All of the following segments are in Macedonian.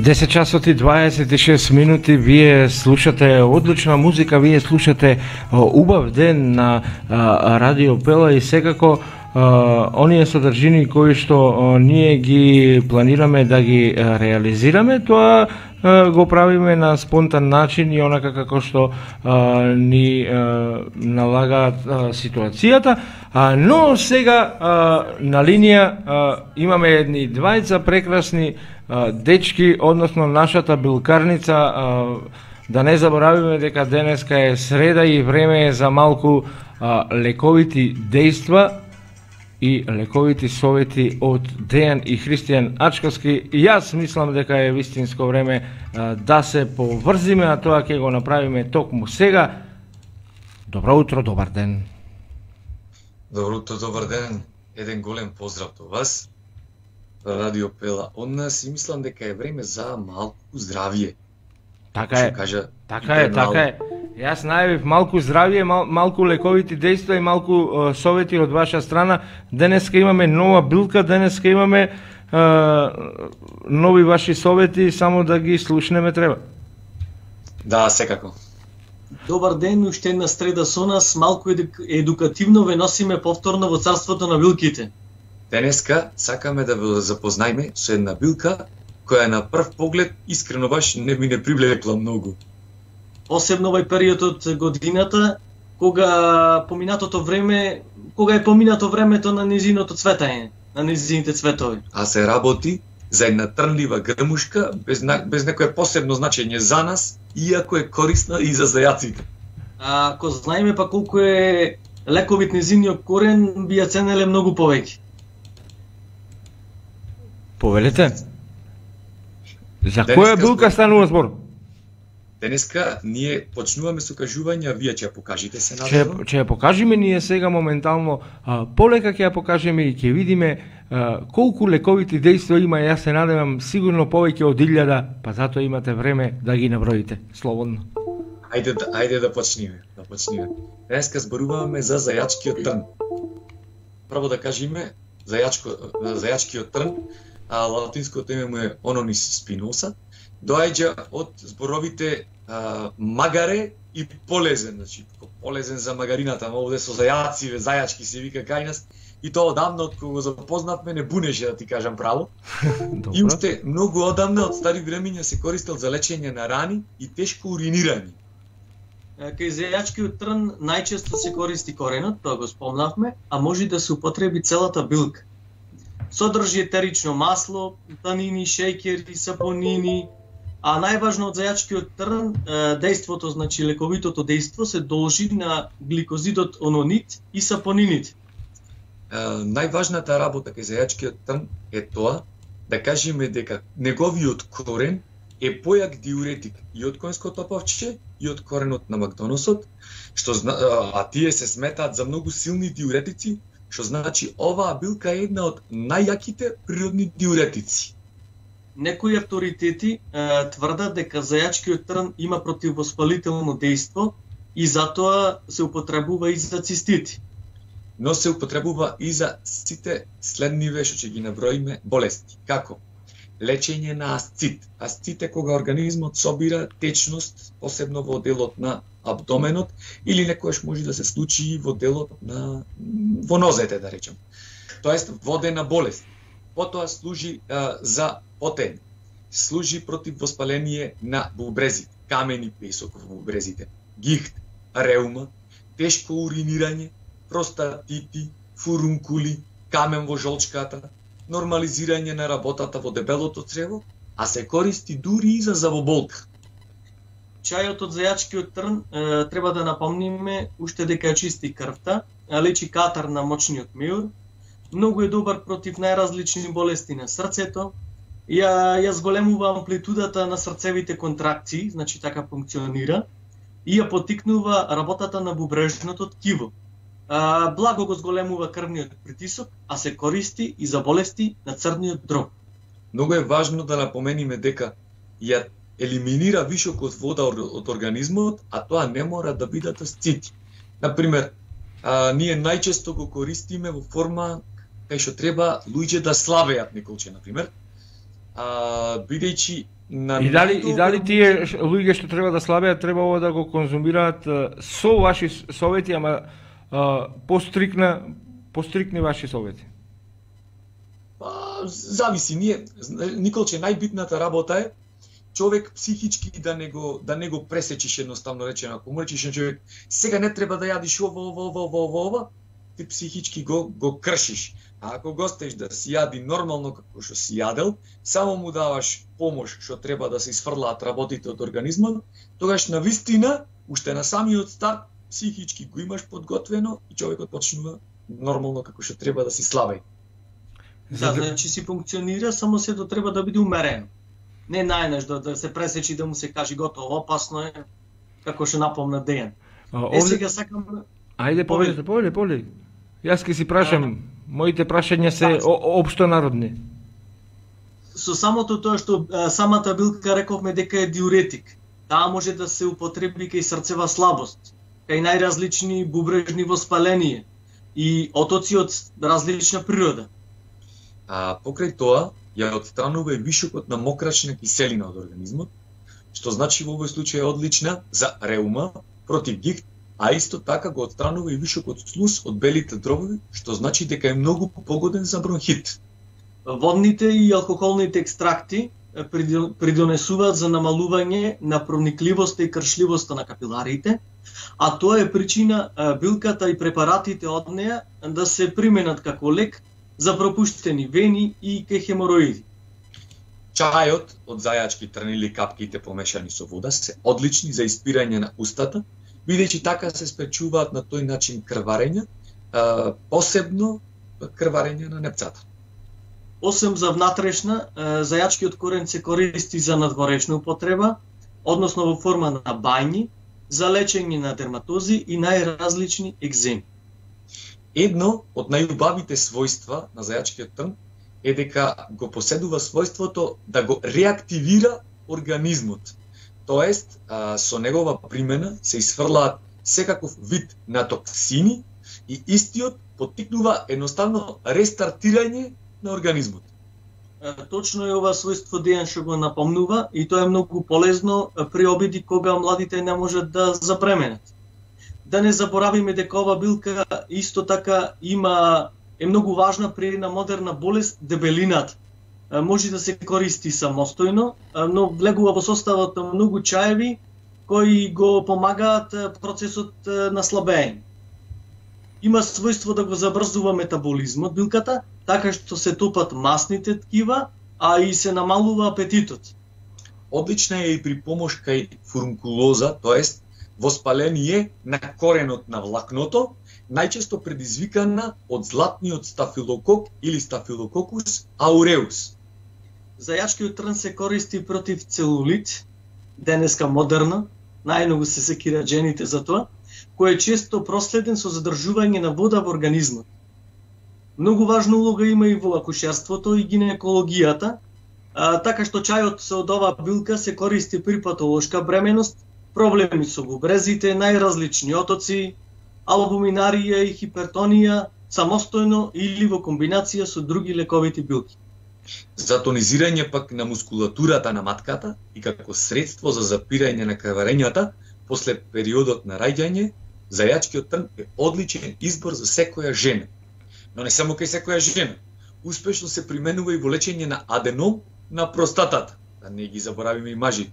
10 часот и 26 минути, вие слушате одлична музика, вие слушате убав ден на Радио Пела и секако оние содржини кои што ние ги планираме да ги реализираме, тоа го правиме на спонтан начин и онака како што ни налагаат ситуацијата. Но сега на линија имаме едни двајца прекрасни дечки, односно нашата билкарница. Да не заборавиме дека денеска е среда и време е за малку лековити дејства и лековити совети од Дејан и Христијан Ачковски. И јас мислам дека е вистинско време да се поврзиме, а тоа ќе го направиме токму сега. Добро утро, добар ден. Добро утро, добар ден. Еден голем поздрав до вас. Радио Пела од нас, и мислам дека е време за малку здравје. Така е. Така е. Јас најавив малку здравје, малку лековити дејства и малку совети од ваша страна. Денеска имаме нова билка, денеска имаме нови ваши совети, само да ги слушнеме треба. Да, секако. Добар ден, уште една среда со нас, малку едукативно ве носиме повторно во царството на билките. Денеска сакаме да ве запознаеме со една билка која на прв поглед искрено баш не ми не привлекла многу. Посебно овај период од годината, кога е поминато времето на незиното цветање, на незините цветови. А се работи за една трнлива грмушка без некое посебно значење за нас, иако е корисна и за зајаците. Ако знаеме па колку е лековит незиниот корен, би ја ценеле многу повеќе. Повелете? За која билка станува збор? Денеска ние почнуваме со кажување, вие ќе ја покажите се надевам. Ќе ја покажеме ние сега моментално, полека ќе ја покажеме и ќе видиме колку лековити дејства има. Јас се надевам сигурно повеќе од 1000, па затоа имате време да ги наброите слободно. Ајде да почнеме. Денеска зборуваме за зајачкиот трн. Прво да кажеме зајачкиот трн, а латинското име му е Ononis spinosa. Доаѓа од зборовите магаре и полезен, значи полезен за магарината, но овде со зајаци, зајачки се вика кај нас, и тоа одамна од кога го запознавме не бунеше, да ти кажам право. И уште многу одамна од стари времења се користел за лечење на рани и тешко уринирање. Кај зајачкиот трн најчесто се користи коренот, тоа го спомнавме, а може да се употреби целата билка. Содржи етерично масло, танини, шеќери, сапонини, а најважно од зајачкиот трн, дејството, значи лековитото дејство, се должи на гликозидот ононит и сапонините. Најважната работа кај зајачкиот трн е тоа да кажеме дека неговиот корен е појак диуретик и од конското павче и од коренот на макдоносот, а тие се сметаат за многу силни диуретици, што значи оваа билка е една од најјаките природни диуретици. Некои авторитети тврдат дека зајачкиот трн има противовоспалително дејство и затоа се употребува и за цистити. Но се употребува и за сите следниве што ќе ги наброиме болести. Како? Лечење на асцит. Асцит е кога организмот собира течност, посебно во делот на абдоменот, или некојаш може да се случи во делот во нозете, да речем. Тоест водена болест. Потоа служи за потење. Служи против воспаление на бубрезите, камени песок во бубрезите, гихт, реума, тешко уринирање, простатити, фурункули, камен во жолчката, нормализирање на работата во дебелото црево, а се користи дури и за завоболка. Чајот од зајачкиот трн треба да напомниме уште дека ја чисти крвта, лечи катар на мочниот меур, многу е добар против најразлични болести на срцето, ја зголемува амплитудата на срцевите контракции, значи така функционира, и ја потикнува работата на бубрежното ткиво. Благо го зголемува крвниот притисок, а се користи и за болести на црниот дроб. Многу е важно да напомениме дека ја елиминира вишокот вода од организмот, а тоа не мора да бидат асцити. Например, ние најчесто го користиме во форма кај што треба луѓе да славеат неколче, например, бидејќи И дали тие луѓе што треба да слабеат требало да го конзумираат со ваши совети, ама пострикни ваши совети? Зависи, Николче, најбитната работа е човек психички да не го пресечиш, едноставно речено. Ако му речиш на човек, сега не треба да јадиш ова, ти психички го кршиш. А ако го оставиш да си јади нормално како што си јадел, само му даваш помош што треба да се изфрлаат работите од организмот, тогаш навистина, уште на самиот старт, психички го имаш подготвено и човекот почнува нормално како што треба да си слабеј. Да, значи си функционира, само сето треба да биде умерено. Не најнаш да се пресечи, да му се каже готово, опасно е, како што напомна Дејан. Сега сакам... Ајде, повеќе. Јас ке си прашам, моите прашања се општо народни. Со самото тоа што самата билка рековме дека е диуретик. Таа може да се употреби кај срцева слабост, кај најразлични бубрежни воспаление и отоци од различна природа. Покрај тоа, ја отстранува и вишокот на мокрачна киселина од организмот, што значи во овој случај е одлична за реума, против гихт, а исто така го отстранува и вишокот слуз од белите дробови, што значи дека е многу погоден за бронхит. Водните и алкохолните екстракти придонесуваат за намалување на проникливоста и кршливоста на капиларите, а тоа е причина билката и препаратите од неа да се применат како лек за пропуштени вени и кај хемороиди. Чајот од зајачки трн или капките помешани со вода се одлични за испирање на устата, бидејќи така се спречуваат на тој начин крварења, посебно крварење на непцата. Осем за внатрешна, зајачкиот корен се користи за надворешна употреба, односно во форма на бањи, за лечење на дерматози и најразлични екземи. Едно од најубавите својства на зајачкиот трн е дека го поседува својството да го реактивира организмот. Тоест, со негова примена се изфрлаат секаков вид на токсини и истиот поттикнува едноставно рестартирање на организмот. Точно е ова својство Дејан што го напомнува и тоа е многу полезно при обиди кога младите не можат да запременат. Да не заборавиме дека ова билка исто така е многу важна при една модерна болест, дебелината. Може да се користи самостојно, но влегува во составот на многу чаеви кои го помагаат процесот на слабење. Има својство да го забрзува метаболизмот билката, така што се топат масните ткива, а и се намалува апетитот. Одлична е и при помош кај фурункулоза, тоест воспаление на коренот на влакното, најчесто предизвикана од златниот стафилокок или стафилококус ауреус. Зајачкиот трн се користи против целулит, денеска модерно, најмногу се секираат жените за тоа, кој е често проследен со задржување на вода во организмот. Многу важна улога има и во акушерството и гинекологијата, така што чајот од оваа билка се користи при патолошка бременост, проблеми со бубрезите, најразлични отоци, албуминарија и хипертонија, самостојно или во комбинација со други лековити билки. За тонизирање пак на мускулатурата на матката и како средство за запирање на крварењата после периодот на раѓање, зајачкиот трн е одличен избор за секоја жена. Но не само кај секоја жена. Успешно се применува и во лечење на аденом на простатата, да не ги заборавиме и мажите.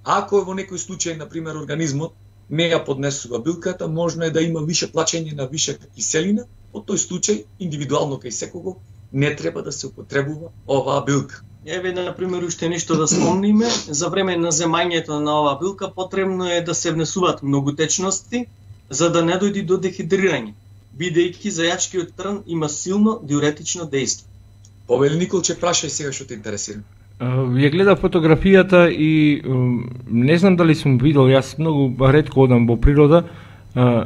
Ако е во некој случај, например, организмот не ја поднесува билката, можно е да има више плачење на вишока киселина, во тој случај, индивидуално кај секого, не треба да се употребува оваа билка. Еве, например, уште нешто да спомниме, за време на земањето на оваа билка потребно е да се внесуваат многу течности, за да не дојде до дехидрирање, бидејќи зајачкиот трн има силно диуретично дејство. Повели Николче, прашај сега што те интересира. Ја гледав фотографијата и не знам дали сум видел, јас многу ретко одам во природа,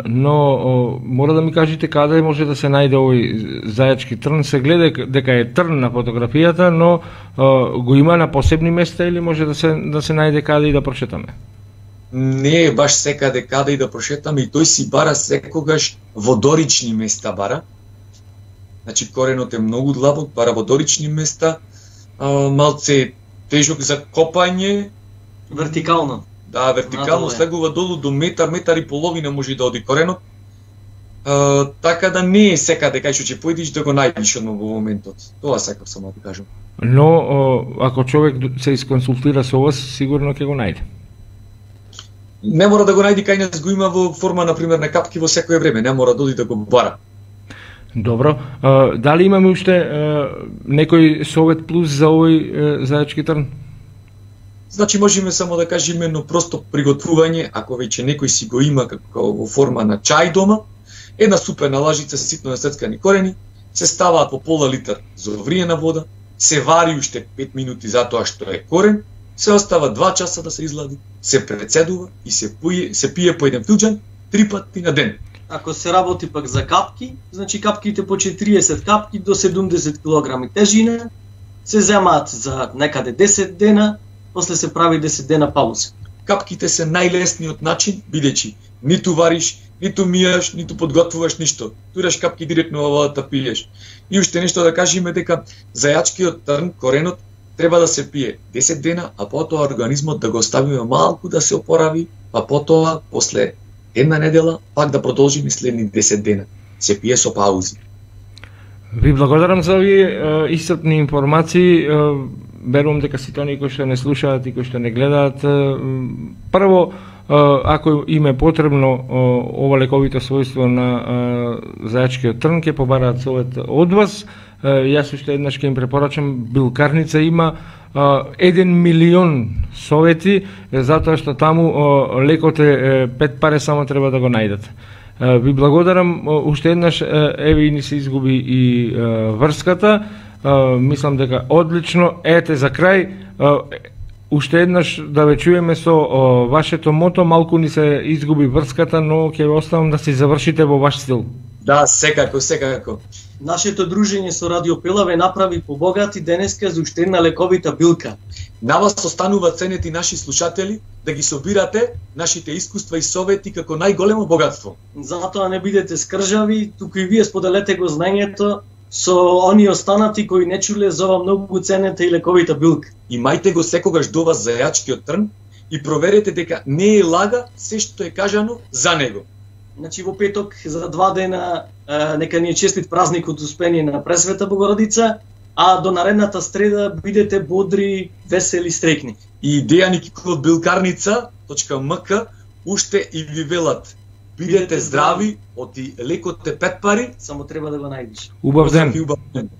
но мора да ми кажете каде може да се најде овој зајачки трн. Се гледа дека е трн на фотографијата, но го има на посебни места или може да се најде каде и да прошетаме? Не е баш секаде каде и да прошетаме, и тој си бара секогаш водорични места бара. Значи коренот е многу длабок, бара водорични места, малце тежок за копање, Вертикално. да, вертикално Надоле. слегува долу до метар, метар и половина може да оди коренот. Така да не е секаде кај што ќе појдеш да го најдеш одма во моментот. Тоа сакав само да кажам. Но ако човек се исконсултира со вас, сигурно ќе го најде. Не мора да го најди кај нас, го има во форма на пример на капки во секое време, не мора да оди да го бара. Добро. Дали имаме уште некој совет плюс за овој зајачки трн? Значи можеме само да кажеме но просто приготвување, ако веќе некој си го има како во форма на чај дома, една супена лажица ситно насецкани корени, се ставаат во пола литар зовриена вода, се вари уште 5 минути затоа што е корен, се остава 2 часа да се излади, се прецедува и се пие по еден филџан 3 пати на ден. Ако се работи пак за капки, значи капките по 30 капки до 70 кг тежина се земаат за некаде 10 дена, после се прави 10 дена пауза. Капките се најлесниот начин, бидејќи ниту вариш, ниту мијаш, ниту подготвуваш ништо. Тураш капки директно во водата пиеш. И уште нешто да кажеме дека зајачкиот трн, коренот, треба да се пие 10 дена, а потоа организмот да го оставиме малку да се опорави, па потоа после една недела пак да продолжиме следни 10 дена. Се пие со паузи. Ви благодарам за овие исцрпни информации. Верувам дека сите оние кои што не слушаат и кои што не гледаат, прво, ако им е потребно ова лековито својство на зајачкиот трн, ќе побараат совет од вас. Јас уште еднаш ќе им препорачам, билкарница има 1 милион совети, затоа што таму лекот е 5 паре, само треба да го најдат. Ви благодарам уште еднаш, еве и ни се изгуби и врската. Мислам дека одлично. Ете за крај, уште еднаш да ве чуеме со вашето мото, малку ни се изгуби врската, но ќе ве оставам да си завршите во ваш стил. Да, секако, секако. Нашето дружење со Радио Пела ве направи побогати денеска за уште една лековита билка. На вас останува ценети наши слушатели да ги собирате нашите искуства и совети како најголемо богатство. Затоа не бидете скржави, туку и вие споделете го знаењето со оние останати кои не чуле за ова многу ценета и лековита билка. Имајте го секогаш до вас зајачкиот трн и проверете дека не е лага се што е кажано за него. Значи во петок за 2 дена нека ни е честит празник од Успение на Пресвета Богородица, а до наредната среда бидете бодри, весели, стрекни. И Дејан Киков од билкарница.мк уште и ви велат: бидете здрави, оти лекот е 5 пари, само треба да го најдеш. Убав ден. Убав ден.